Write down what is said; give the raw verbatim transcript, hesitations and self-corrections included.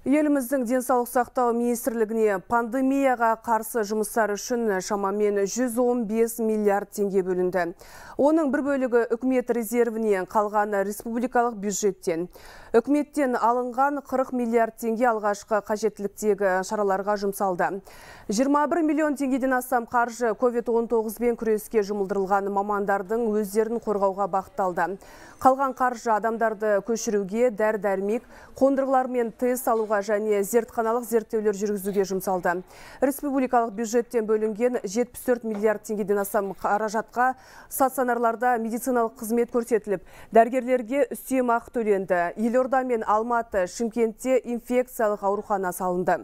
Еліміздің денсаулық сақтау министрлігіне пандемияға қарсы жұмыстар үшін шамамен жүз он бес миллиард теңге бөлінді. Оның бір бөлігі үкімет резервінен, қалған республикалық бюджеттен. Үкіметтен алынған қырық миллиард теңге алғашқы қажеттіліктегі шараларға жұмсалды. жиырма бір миллион теңгеден астам қаржы ковид он тоғыз бен күреске жұмылдырылған мамандардың өздерін қорғауға бағытталды. Қалған қаржы адамдарды көшіруге, дәрі-дәрмек, қондырғылар мен тест алуға және зертханалық зерттеулер жүргізуге жұмсалды. Республикалық бюджеттен бөлінген жетпіс төрт миллиард теңгеден астам қаражатқа стационарларда медициналық қызмет көрсетіліп, дәрігерлерге үстемақы төленді. Елорда мен Алматы, Шымкентте инфекциялық аурухана салынды.